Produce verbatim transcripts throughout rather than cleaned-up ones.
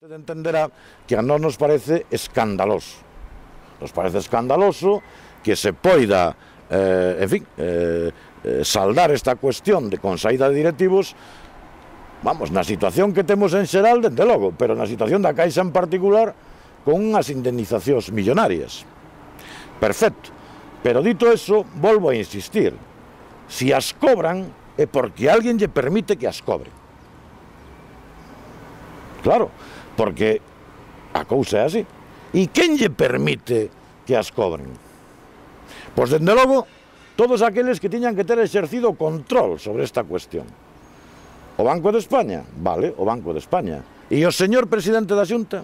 Usted entenderá que a nós nos parece escandaloso. Nos parece escandaloso que se poida, eh, en fin, eh, eh, saldar esta cuestión de con saída de directivos, vamos, na situación que temos en xeral, dende logo, pero na situación da Caixa en particular, con unhas indemnizacións millonarias. Perfecto. Pero dito eso, volvo a insistir. Si as cobran, é porque alguén lle permite que as cobre. Claro, porque a cousa é así. E quen lle permite que as cobren? Pois, dende logo, todos aqueles que tiñan que ter exercido control sobre esta cuestión. O Banco de España? Vale, o Banco de España. E o señor presidente da Xunta?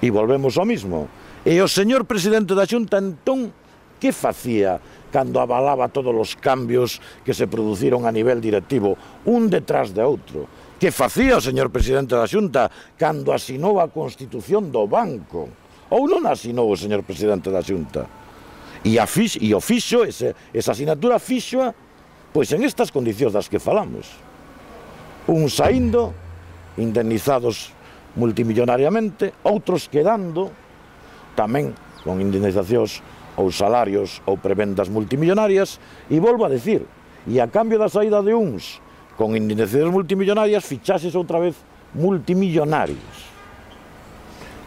E volvemos ao mismo. E o señor presidente da Xunta, entón, que facía cando avalaba todos os cambios que se produciron a nivel directivo, un detrás de outro? Que facía o señor presidente da Xunta cando asinou a Constitución do banco? Ou non asinou o señor presidente da Xunta? E, a fix, e o fixo, ese, esa asignatura fixoa, pois en estas condicións das que falamos. Un saindo, indemnizados multimillonariamente, outros quedando, tamén con indemnizacións ou salarios ou prebendas multimillonarias, e volvo a decir, e a cambio da saída de uns con indemnizacións multimillonarias, fichases outra vez multimillonarios.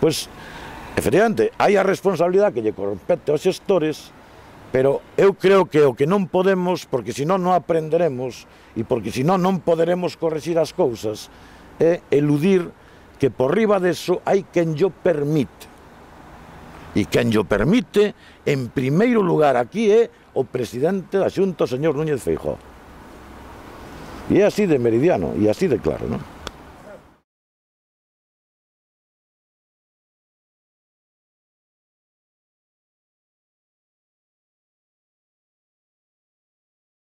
Pois, efectivamente, hai a responsabilidade que lle compete aos xestores, pero eu creo que o que non podemos, porque senón non aprenderemos, e porque senón non poderemos correxir as cousas, é eludir que por riba deso hai quen llo permite. E quen llo permite, en primeiro lugar aquí, é o presidente da Xunta, o señor Núñez Feijóo. E é así de meridiano, e así de claro, non?